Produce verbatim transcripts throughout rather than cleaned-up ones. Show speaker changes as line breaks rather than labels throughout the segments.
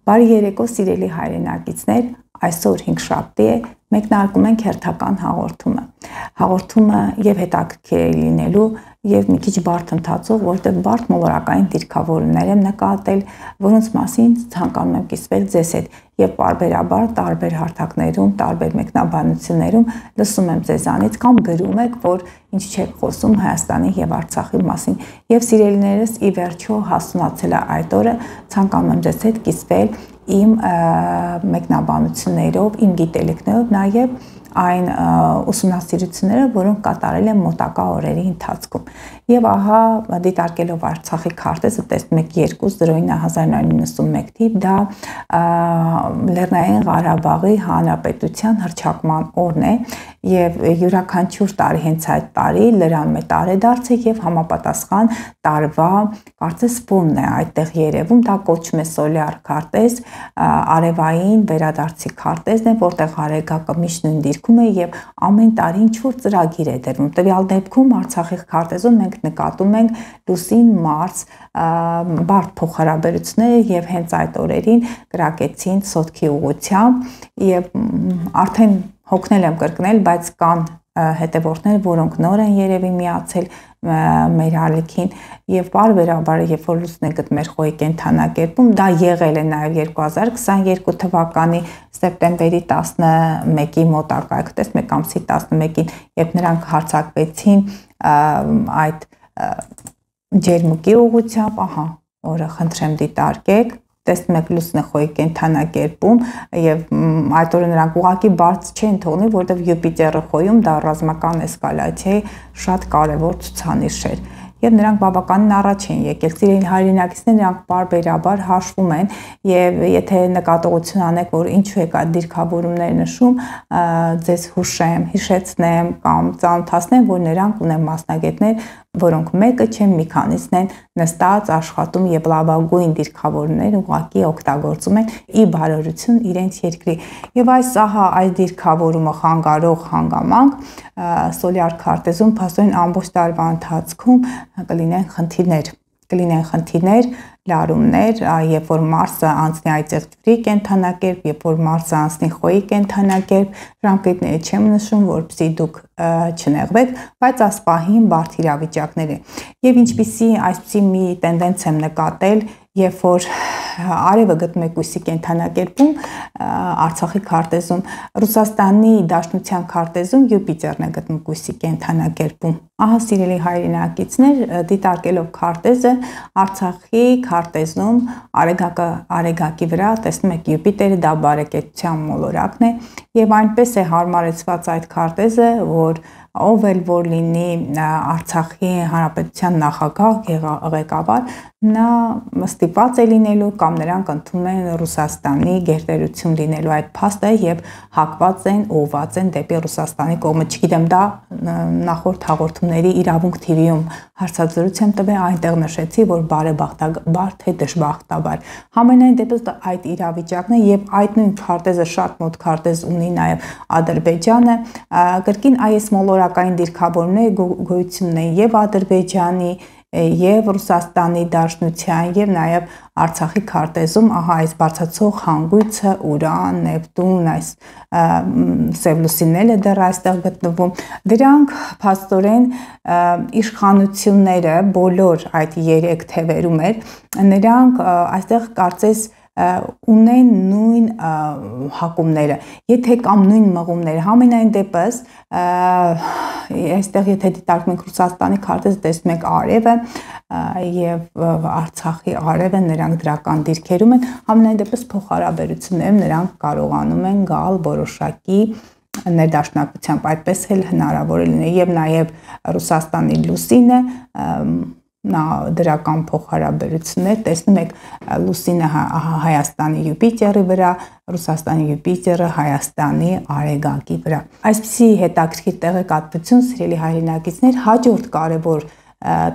Բարի երեկո, սիրելի հայրենակիցներ, այսօր հինգշաբթի է, մեկնարկում ենք հերթական հաղորդումը։ Հաղորդումը եւ հետաքրքիր է լինելու եւ մի քիչ բարդ ընթացող, որտեղ բարդ մոլորակային դիրքավորումներ եմ նկատել, որոնց մասին ցանկանում եմ կիսվել ձեզ հետ եւ պարբերաբար տարբեր հարթակներում, տարբեր մեկնաբանություններում լսում եմ ձեզանից կամ գրում եք, որ ինչ չեք խոսում Հայաստանի եւ Արցախի մասին։ Եվ սիրելիներս, ի վերջո հասունացել է այդ օրը, ցանկանում եմ ձեզ հետ կիսվել իմ մեկնաբանություններով, իմ գիտելիքներով, նաեւ այն ուսումնասիրությունները, որոնք կատարել եմ մոտակա օրերի ընթացքում։ Եվ ահա դիտարկելով Արցախի քարտեզը տեսնում եք երկու զրոյինը հազար նույնսուն իննսունմեկ թիվ, դա Լեռնային Ղարաբաղի Հանրապետության հռչակման օրն է եւ յուրաքանչյուր տարի հենց այդ տարի լրանում է տարեդարձը եւ համապատասխան տարվա կարծես ֆոնն է այդտեղ երևում, դա կոչվում է սոլյար քարտեզ, արևային վերադարձի քարտեզն է, որտեղ արեգակը միշտ նույն դիրքում է եւ ամեն տարի ինչ-որ ծրագիր է դրվում։ Տվյալ դեպքում Արցախի քարտեզում մենք նկատում ենք լուսին, մարզ, բարդ փոխհարաբերությունները եւ հենց այդ օրերին կրակեցին սոտքի ուղղությամբ եւ արդեն հոգնել եմ կրկնել, բայց կան հետևորդներ, որոնք նոր են երևի միացել մեր ալիքին եւ բարբերաբար երբ որ լուսն է գտնել խոյի կենթանակերպում, դա եղել է նաեւ երկու հազար քսաներկու թվականի սեպտեմբերի տասնմեկի մոտակայք, տեսնեք ամսի տասնմեկին, երբ նրանք հարձակվեցին այդ ջերմուկի ուղղությամբ, ահա, օրը խնդրեմ դիտարկեք, տեսնում եք լուսնը խոյի կենթանակերպում եւ այդ օրը նրանք ուղղակի բարձ չեն թողնի, որովհետեւ Յուպիտերը խոյում դա ռազմական էսկալացիայի շատ կարեւոր ցուցանիշ էր։ Եվ նրանք բավականին առաջ են եկել, սիրելի հայրենակիցներ, նրանք բարբերաբար հաշվում են եւ եթե նկատողություն անեք, որ ինչու եք այդ դիրքավորումները նշում, ձեզ հուշեմ, հիշեցնեմ կամ ծանոթացնեմ, որ նրանք ունեն մասնագետներ, որոնք մեկը չեն, մի քանիսն են նստած աշխատում եւ լավագույն դիրքավորումներ ուղղակի օգտագործում են ի բարօրություն իրենց երկրի։ Եվ այս ահա այս դիրքավորումը խանգարող հանգամանք սոլյար քարտեզում փաստորեն ամբողջ տարվա ընթացքում կլինեն խնդիրներ, կլինեն խնդիրներ, լարումներ, երբ որ Մարսը անցնի այծեղջրի կենթանակերպ, երբ որ Մարսը անցնի խոյի կենթանակերպ, ժամկետները չեմ նշում, որպեսզի դուք չնեղվեք, բայց ասպահին բարդ իրավիճակներ են։ Եվ ինչպիսի այսպիսի մի տենդենց եմ նկատել, երբ որ արևը գտնում եք ուսի կենթանակերպում Արցախի քարտեզում, Ռուսաստանի Դաշնության քարտեզում Յուպիտերն է գտնում ուսի կենթանակերպում։ Ահա սիրելի հայրենակիցներ, դիտարկելով քարտեզը Արցախի քարտեզում արեգակը արեգակի վրա տեսնում եք Յուպիտերը, դա բարեկեցության մոլորակն է եւ այնպես է հարմարեցված այդ քարտեզը, որ ով էլ որ լինի Արցախի Հանրապետության նախագահ ղեկավար, նա ստիպված է լինելու կամ նրանք ընդունում են Ռուսաստանի գերտերություն լինելու այդ փաստը եւ հակված են, ուղղված են դեպի Ռուսաստանի կողմը։ Չգիտեմ, դա նախորդ հաղորդումների իրավունք թիվիում հարցազրույց եմ տվել, այնտեղ նշեցի, որ բարեբախտաբար թե դժբախտաբար։ Համենայն դեպս այդ իրավիճակն է եւ այդ նույն քարտեզը շատ մոտ քարտեզ ունի նաեւ Ադրբեջանը, կրկին այս մոլորակային դիրքավորումները գոյություն ունեն եւ Ադրբեջանի եւ Ռուսաստանի Դաշնության եւ նաեւ Արցախի քարտեզում, ահա այս բարձրացող հանգույցը, Ուրան, Նեպտուն, այս սևլուսինները դեռ այստեղ գտնվում, դրանք փաստորեն իշխանությունները բոլոր այդ երեք թևերում էր, նրանք այստեղ կարծես ունեն նույն հակումները, եթե կամ նույն մղումները, համենայն դեպս այստեղ եթե դիտարկում ենք Ռուսաստանի քարտեզը, տեսնում եք արևը եւ Արցախի արևը, նրանք դրական դիրքերում են, համենայն դեպս փոխհարաբերություններում նրանք կարողանում են գալ որոշակի ներդաշնակությամբ, այդպես էլ հնարավոր է լինել եւ նաեւ Ռուսաստանի լուսինը նա դրական փոխհարաբերություններ, տեսնում եք լուսինը Հայաստանի Յուպիտերի վրա, Ռուսաստանի Յուպիտերը Հայաստանի արեգակի վրա։ Այսպիսի հետաքրքիր տեղեկատվություն, սիրելի հայրենակիցներ, հաջորդ կարևոր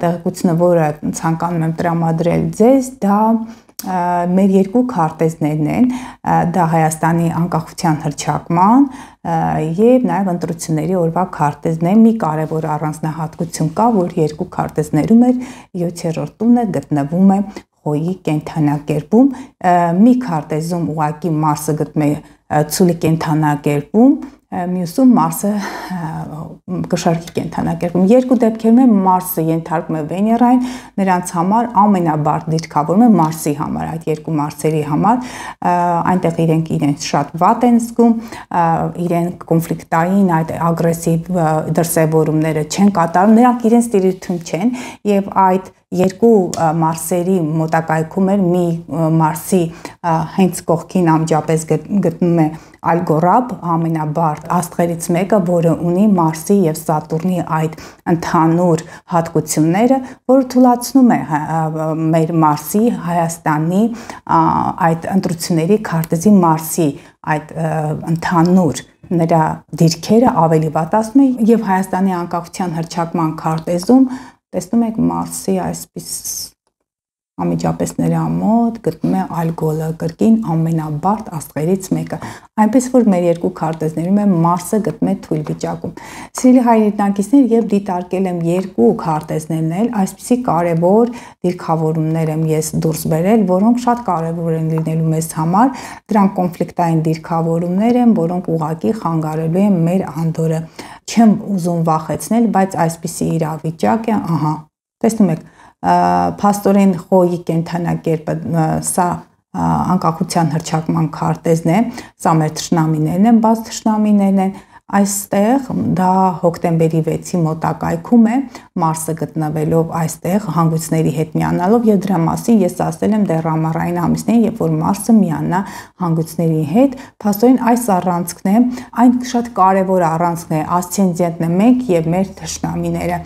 տեղեկությունը, որը ցանկանում եմ տրամադրել ձեզ, դա մեր երկու քարտեզներն են, դա Հայաստանի անկախության հռչակման եւ նաեւ ընտրությունների օրվա քարտեզն է։ Մի կարևոր առանձնահատկություն կա, որ երկու քարտեզներում էլ յոթերորդ տունը գտնվում է խոյի կենթանակերպում, մի քարտեզում ուղղակի Մարսը գտնում է ցուլի կենթանակերպում, մյուսում Մարսը կշարքի կենթանակերպում։ Երկու դեպքերում է Մարսը ենթարկվում է Վեներային, նրանց համար ամենաբարդ դիրքավորում է Մարսի համար, այդ երկու Մարսերի համար, այնտեղ իրենք իրենց շատ վատ են զգում, իրենք կոնֆլիկտային, այդ ագրեսիվ դրսևորումները չեն կատարում, նրանք իրենց տիրույթում չեն եւ այդ երկու Մարսերի մոտակայքում էր մի Մարսի հենց կողքին անմիջապես գտնում է Ալգորաբ, ամենաբարդ աստղերից մեկը, որը ունի Մարսի եւ Սատուրնի այդ ընդհանուր հատկությունները, որը թույլատնում է մեր Մարսի, Հայաստանի այդ ընտրությունների քարտեզի Մարսի այդ ընդհանուր նրա դիրքերը ավելի վատացնում է եւ Հայաստանի անկախության հռչակման քարտեզում տեսնում եք Մարսի այսպես անմիջապես նրա մոտ գտնում է Ալգոլը, կրկին ամենաբարդ աստղերից մեկը, այնպես որ մեր երկու քարտեզներում է Մարսը գտնում է թույլ վիճակում։ Սիրելի հայրենակիցներ, եւ դիտարկել եմ երկու քարտեզներն էլ, այսպիսի կարևոր դիրքավորումներ եմ ես դուրս բերել, որոնք շատ կարևոր են լինելու մեզ համար, դրանք կոնֆլիկտային դիրքավորումներ են, որոնք ուղղակի խանգարելու են մեր անդորը։ Չեմ ուզում վախեցնել, բայց այսպիսի իրավիճակ է, ահա, տեսնում եք, փաստորեն խոյի կենթանակերպը սա անկախության հռչակման քարտեզն է, սա մեր թշնամիներն են, բաց թշնամիներն են, այստեղ դա հոկտեմբերի վեցի մոտակայքում է, Մարսը գտնվելով այստեղ հանգույցների հետ միանալով եւ դրա մասին ես ասել եմ դեռ ամառային ամիսներին, երբ որ Մարսը միանա հանգույցների հետ, փաստորեն այս առանցքն է, այն շատ կարևոր առանցքն է, ասցենդենտն է մենք եւ մեր թշնամիները,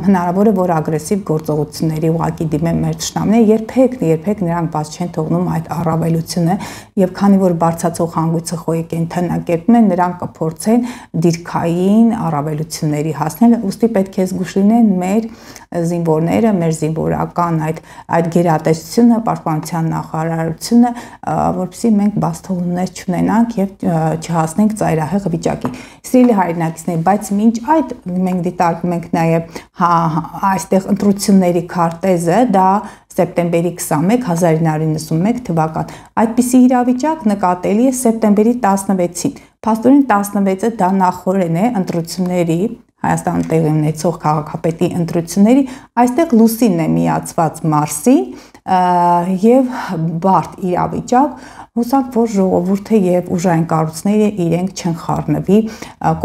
հնարավոր է որ ագրեսիվ գործողությունների ուղղակի դիմեն մեր թշնամիները, երբեք երբեք նրանք բաց չեն թողնում այդ առավելությունը եւ քանի որ բարձացող հանգույցը խոյի կենթանակերպում է, նրանք կփորձեն դիրքային առավելությունների հասնել, ուստի պետք է զգուշ լինեն մեր զինվորները, մեր զինվորական այդ այդ գերատեսչությունը, պաշտպանության նախարարությունը, որովհետեւ մենք բաց թողումներ չունենանք եւ չհասնենք ծայրահեղ վիճակի։ Սիրելի հայրենակիցներ, բայց մինչ այդ մենք դիտարկում ենք նաեւ այստեղ ընտրությունների քարտեզը, դա սեպտեմբերի քսանմեկ հազար ինը հարյուր նվաթ թվական։ Այդպիսի իրավիճակ նկատելի է սեպտեմբերի տասնվեցին։ Փաստորեն տասնվեցը դա նախորեն է ընտրությունների Հայաստանում տեղի ունեցող քաղաքապետի ընտրությունների, այստեղ լուսինն է միացված Մարսին եւ բարդ իրավիճակ, հուսանք որ ժողովուրդը եւ ուժային կառույցները իրենք չեն խառնվի,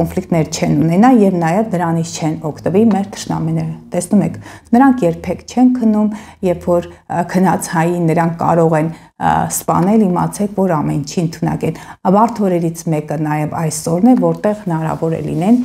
կոնֆլիկտներ չեն ունենա եւ նաեւ դրանից չեն օգտվի մեր թշնամիները։ Տեսնում եք, նրանք երբեք չեն քնում, երբ որ քնած հային նրանք կարող են սպանել, իմացեք, որ ամեն ինչի ընդունակ են։ Բարդ օրերից մեկը նաև այսօրն է, որտեղ հնարավոր է լինեն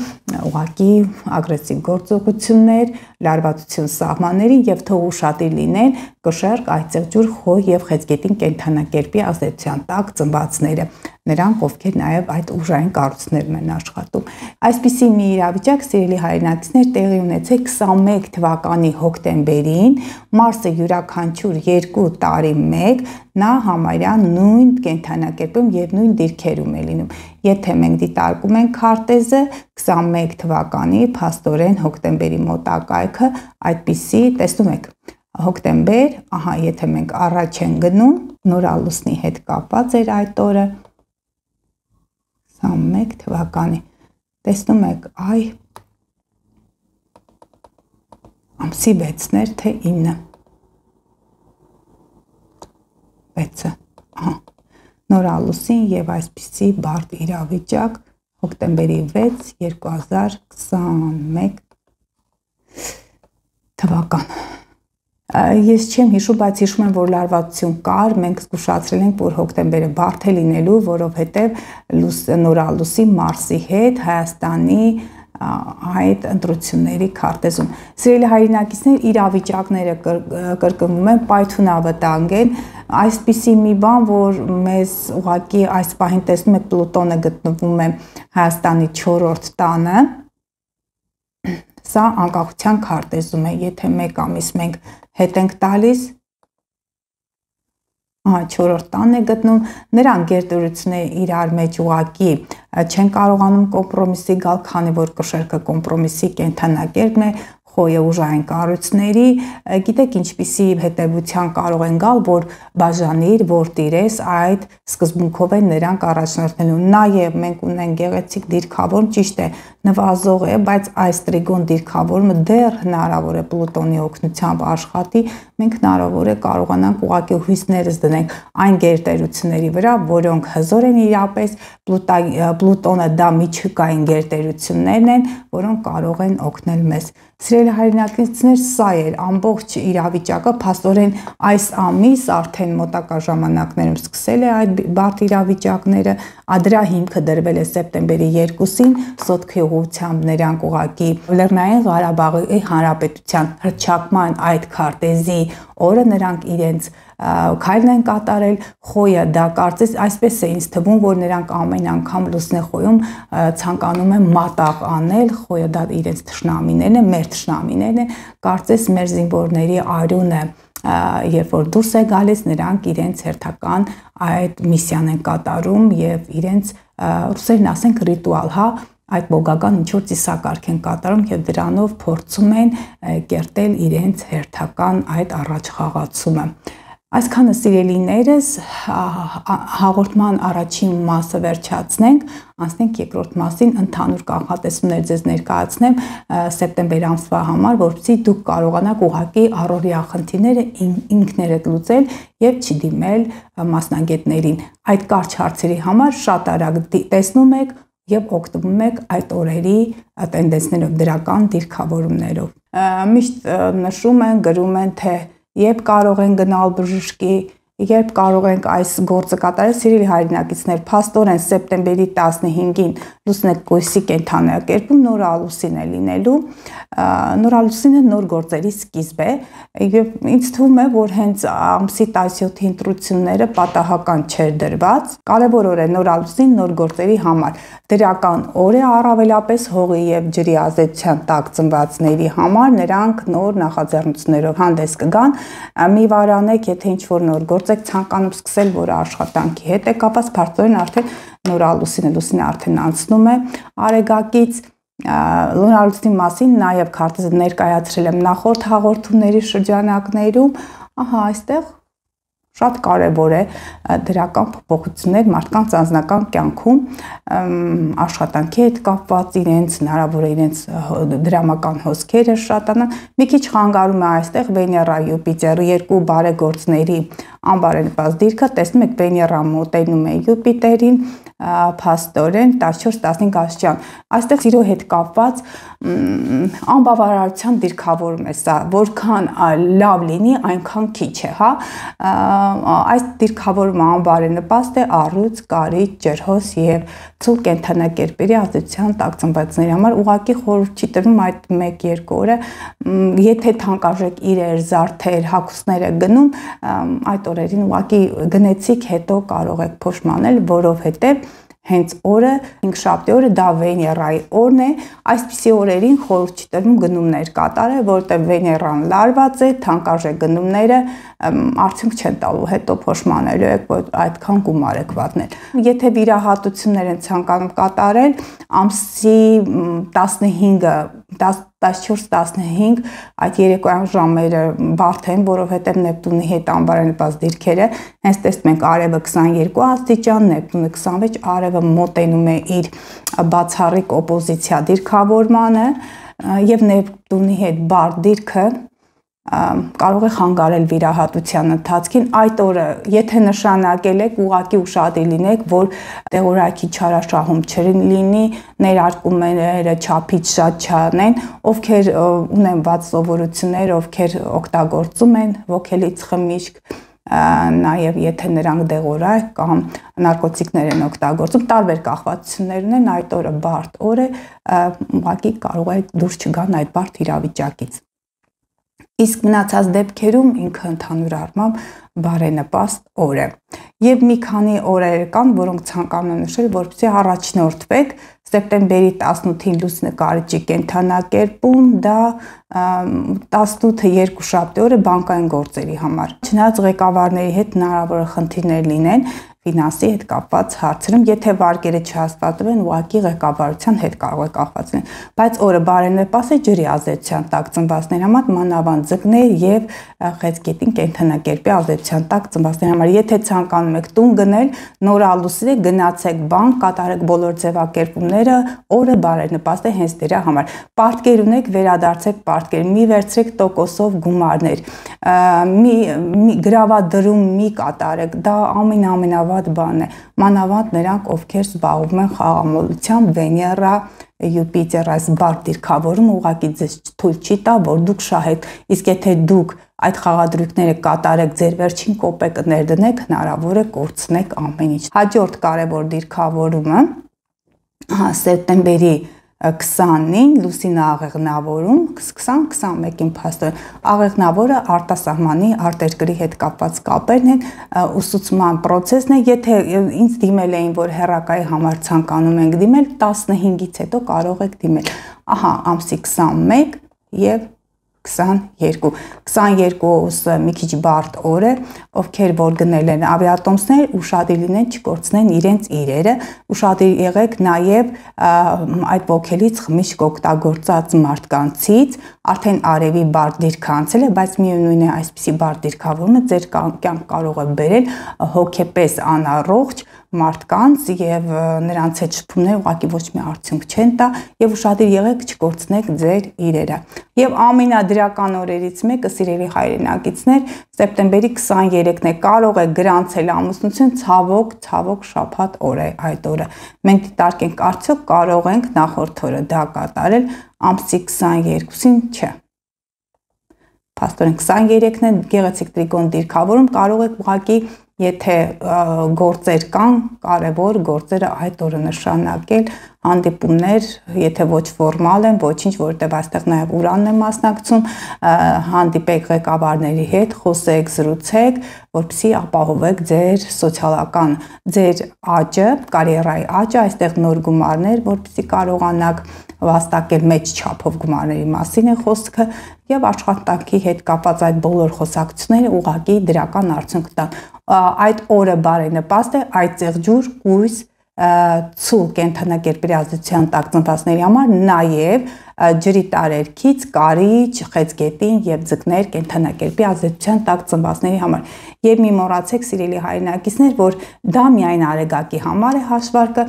ուղղակի ագրեսիվ գործողություններ, լարվածություն սահմանների եւ թող ուշադիր լինեն կշեռք, այծեղջուր, խոյ եւ խեցգետին կենթանակերպի ազդեցության տակ ծնվածները, նրանք ովքեր նաև այդ ուժային կառույցներն են աշխատում։ Այսպիսի մի իրավիճակ, սիրելի հայրենակիցներ, տեղի ունեցել քսանմեկ թվականի հոկտեմբերին, Մարսը յուրաքանչյուր երկու տարի մեկ նա համարյա նույն կենթանակերպում եւ նույն դիրքերում է լինում։ Եթե մենք դիտարկում ենք քարտեզը քսանմեկ թվականի փաստորեն հոկտեմբերի մոտակայքը, այդպիսի տեսնում եք հոկտեմբեր, ահա եթե մենք առաջ են գնում, նորալուսնի հետ կապված էր այդ օրը քսանմեկ թվականի, տեսնում եք, այ ամսի վեցներ թե ինը, վեցը, ահա, նորալուսին եւ այսպիսի բարդ իրավիճակ հոկտեմբերի վեց երկու հազար քսանմեկ թվական։ Ես չեմ հիշում, բայց հիշում եմ, որ լարվածություն կար, մենք զգուշացրել ենք, որ հոկտեմբերը բարդ է լինելու, որովհետև նորալուսի Մարսի հետ Հայաստանի այդ ընտրությունների քարտեզում։ Սիրելի հայրենակիցներ, իրավիճակները կրկնվում են, պայթունավտանգ են, այսպիսի մի բան, որ մեզ ուղղակի այս պահին տեսնում եք Պլուտոնը գտնվում է Հայաստանի չորրորդ տանը, սա անկախության քարտեզում է, եթե մեկ ամիս մենք հետ ենք տալիս, չորրորդ տանն է գտնում, նրանք գերտերությունները իրար մեջ ուղղակի չեն կարողանում կոմպրոմիսի գալ, քանի որ կշեռքը կոմպրոմիսի կենթանակերպն է, խոյը ուժային կառույցների, գիտեք ինչպիսի հետևության կարող են գալ, որ բաժանիր, որ տիրես, այդ սկզբունքով են նրանք առաջնորդելու։ Նաև մենք ունենք գեղեցիկ դիրքավորում, ճիշտ է, նվազող է, բայց այս տրիգոն դիրքավորումը դեռ հնարավոր է Պլուտոնի օգնությամբ աշխատի, մենք հնարավոր է կարողանանք ուղղակի հույսներս դնենք այն գերտերությունների վրա, որոնք հզոր են իրապես, Պլուտոնը դա միջուկային գերտերություններն են, որոնք կարող են օգնել մեզ։ Սիրելի հայրենակիցներ, սա էր ամբողջ իրավիճակը, փաստորեն այս ամիս արդեն մոտակա ժամանակներում սկսել է այդ բարդ իրավիճակները, դրա հիմքը դրվել է սեպտեմբերի երկուսին, Սոտքի ուղղությամբ նրանք ուղղակի Լեռնային Ղարաբաղի Հանրապետության հռչակման այդ քարտեզի օրը նրանք իրենց քայլն են կատարել, խոյը դա կարծես այսպես է ինձ թվում, որ նրանք ամեն անգամ լուսնեխոյում ցանկանում են մատաղ անել, խոյը դա իրենց թշնամիներն են, մեր թշնամիներն են, կարծես մեր զինվորների արյունը երբ որ դուրս է գալիս, նրանք իրենց հերթական այդ միսիան են կատարում եւ իրենց ռուսերեն ասենք ռիտուալ, հա, այդ բոգական ինչ-որ ծիսակարգ են կատարում եւ դրանով փորձում են կերտել իրենց հերթական այդ առաջխաղացումը։ Այսքանը սիրելիներս, հաղորդման առաջին մասը վերջացնենք, անցնենք երկրորդ մասին, ընդհանուր կանխատեսումներ ձեզ ներկայացնեմ սեպտեմբեր ամսվա համար, որպեսզի դուք կարողանաք ուղղակի առօրյա խնդիրները ինքներդ լուծել եւ չդիմել մասնագետներին։ Այդ կարճ հարցերի համար շատ արագ տեսնում եք եւ օգտվում եք այդ օրերի տենդենսներով, դրական դիրքավորումներով։ Միշտ նշում են, գրում են, թե երբ կարող են գնալ բժշկի, երբ կարող ենք այս գործը կատարել, սիրելի հայրենակիցներ, փաստորեն սեպտեմբերի տասնհինգին լուսնեկույսի կենդանակերպում նորալուսին է լինելու, նորալուսինը նոր գործերի սկիզբ է, եւ ինձ թվում է, որ հենց ամսի տասնյոթի ընտրությունները պատահական չէր դրված, կարևոր օր է նորալուսին նոր գործերի համար, դրական օր է առավելապես հողի եւ ջրի ազդեցության տակ ծնվածների համար, նրանք նոր նախաձեռնություններով հանդես կգան, մի վարանեք, եթե ինչ-որ նոր գործ եք ցանկանում սկսել, որը աշխատանքի հետ է կապված, փաստորեն արդեն նորալուսինը լուսինը արդեն անցնում է արեգակից, նորալուսինի մասին նաև քարտեզը ներկայացրել եմ նախորդ հաղորդումների շրջանակներում, ահա այստեղ շատ կարևոր է դրական փոփոխություններ մարդկանց անձնական կյանքում աշխատանքի հետ կապված իրենց հնարավոր է իրենց դրամական հոսքերը շատանան, մի քիչ խանգարում է այստեղ Վեներա Յուպիտերը երկու բարեգործների անբարենպաստ դիրքը, տեսնում եք Վեներան մոտենում է Յուպիտերին, փաստորեն տասնչորս տասնհինգ աստիճան, այստեղ սիրո հետ կապված անբավարարության դիրքավորում է սա, որքան լավ լինի, այնքան քիչ է, հա, այս դիրքավորումը անբարենպաստ է առյուծ, կարիճ, ջրհոս եւ ցուլ կենդանակերպերի ազդեցության տակ ծնվածների համար, ուղղակի խորհուրդ չի տրվում այդ մեկ-երկու օրը, եթե թանկարժեք իրեր, զարդեր, հագուստներ եք գնում, այդ օրերին ուղղակի գնեցիք, հետո կարող եք փոշմանել, որովհետեւ հենց օրը, հինգշաբթի օրը դա Վեներայի օրն է, այսպիսի օրերին խորհուրդ չի տրվում գնումներ կատարել, որտեղ Վեներան լարված է, թանկարժեք գնումները արդյունք չեն տալու, հետո փոշմանելու եք, որ այդքան գումար եք վատնել։ Եթե վիրահատություններ են ցանկանում կատարել, ամսի տասնհինգը, տասնչորս տասնհինգ այդ երեկոյան ժամերը բարդ են, որովհետև Նեպտունի հետ անբարենպաստ դիրքերը, հենց տեսնում ենք արևը քսանյոթ աստիճան, Նեպտունը քսանվեց, արևը մոտենում է իր բացառիկ օպոզիցիա դիրքավորմանը եւ Նեպտունի հետ բարդ դիրքը կարող է խանգարել վիրահատության ընթացքին, այդ օրը եթե նշանակել եք, ուղղակի ուշադիր լինեք, որ տեղորայքի չարաշահում չլինի, ներարկումները չափից շատ չանեն, ովքեր ունեն վատ սովորություններ, ովքեր օգտագործում են ոգելից խմիչք, նաև եթե նրանք դեղորայք կամ նարկոտիկներ են օգտագործում, տարբեր կախվածություններ ունեն, այդ օրը բարդ օր է, ուղղակի կարող է դուրս չգան այդ բարդ իրավիճակից։ Իսկ մնացած դեպքերում ինքը ընդհանուր առմամբ բարենպաստ օր է։ Եվ մի քանի օրեր կան, որոնք ցանկանում եմ նշել, որպեսզի առաջնորդվեք սեպտեմբերի տասնութին լուսնը կարիճի կենդանակերպում, դա տասնութը երկուշաբթի օրը բանկային գործերի համար։ Չնայած ղեկավարների հետ հնարավոր է խնդիրներ լինեն, ֆինանսի հետ կապված հարցերում, եթե վարկերը չհաստատվում են, ուղղակի ղեկավարության հետ կարող է կապված լինել, բայց օրը բարենպաստ է ջրի ազդեցության տակ ծնվածների համար, մանավանդ ձկներ եւ խեցգետին կենդանակերպի ազդեցության տակ ծնվածների համար։ Եթե ցանկանում եք տուն գնել, նորալուսի գնացեք բանկ, կատարեք բոլոր ձևակերպումները, օրը բարենպաստ է հենց դրա համար։ Պարտքեր ունեք, վերադարձեք պարտքեր, մի վերցրեք տոկոսով գումարներ, մի գրավադրում մի կատարեք, դա ամենաամենավատ բանն է, մանավանդ նրանք, ովքեր զբաղվում են խաղամոլությամբ, Վեներա, Յուպիտեր, այս բարդ դիրքավորումը ուղղակի ձեզ թույլ չի տա, որ դուք շահեք, իսկ եթե դուք այդ խաղադրույքները կատարեք, ձեր վերջին կոպեկը ներդնեք, հնարավոր է կորցնեք ամեն ինչ։ Հաջորդ կարևոր դիրքավորումը սեպտեմբերի քսանին լուսինը աղեղնավորում, քսան քսանմեկին փաստորեն աղեղնավորը արտասահմանի արտերկրի հետ կապված կապերն են, ուսուցման process-ն է, եթե ինձ դիմել էին, որ հեռակայի համար ցանկանում ենք դիմել, տասնհինգից հետո կարող եք դիմել, ահա ամսի քսանմեկ եւ քսաներկու, քսաներկուը մի քիչ բարդ օր է, ովքեր որ գնել են ավիատոմսներ, ուշադիր լինեն չկորցնեն իրենց իրերը, ուշադիր եղեք նաև այդ ոգելից խմիչք օգտագործած մարդկանցից, արդեն արևի բարդ դիրք անցել է, բայց միևնույն է այսպիսի բարդ դիրքավորումը ձեր կյանք կարող է բերել հոգեպես անառողջ մարդկանց եւ նրանց հետ շփումները ուղղակի ոչ մի արդյունք չեն տա եւ ուշադիր եղեք չկորցնեք ձեր իրերը։ Եվ ամենադրական օրերից մեկը, սիրելի հայրենակիցներ, սեպտեմբերի քսաներեքն է, կարող է գրանցել ամուսնություն, ցավոք, ցավոք շաբաթ օր է այդ օրը։ Մենք դիտարկենք արդյոք կարող ենք նախորդ օրը դա կատարել, ամսի քսաներկուսին չէ։ Փաստորեն քսաներեքն է, գեղեցիկ տրիգոն դիրքավորում, կարող եք ուղղակի եթե գործեր կան, կարևոր գործերը այդ օրը նշանակել, հանդիպումներ, եթե ոչ ֆորմալ են, ոչինչ, որտեղ այստեղ նաև Ուրանն է մասնակցում, հանդիպեք ղեկավարների հետ, խոսեք, զրուցեք, որպեսզի ապահովեք ձեր սոցիալական, ձեր աճը, կարիերայի աճը, այստեղ նոր գումարներ, որպեսզի կարողանաք վաստակել մեծ չափով գումարների մասին է խոսքը եւ աշխատանքի հետ կապված այդ բոլոր խոսակցությունները ուղղակի դրական արդյունք տան։ Այդ օրը բարենպաստ է, այդ ծեղջուր, կույս, ցուլ կենդանակերպերի ազդեցության տակ ծնվածների համար, նաև ջրի տարերքից կարիճ, խեցգետին եւ ձկներ կենդանակերպի ազդեցության տակ ծնվածների համար։ Եվ մի մոռացեք, սիրելի հայրենակիցներ, որ դա միայն արեգակի համար է հաշվարկը,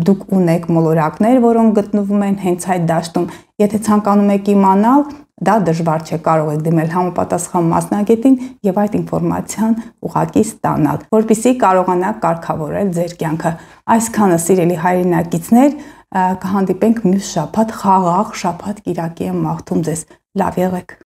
դուք ունեք մոլորակներ, որոնք գտնվում են հենց այդ դաշտում, եթե ցանկանում եք իմանալ, դա դժվար չէ, կարող եք դիմել համապատասխան մասնագետին եւ այդ ինֆորմացիան ուղղակի ստանալ, որպեսզի կարողանաք կարգավորել ձեր կյանքը։ Այսքանը, սիրելի հայրենակիցներ, կհանդիպենք մյուս շաբաթ, խաղաղ շաբաթ կիրակի եմ մաղթում ձեզ, լավ եղեք։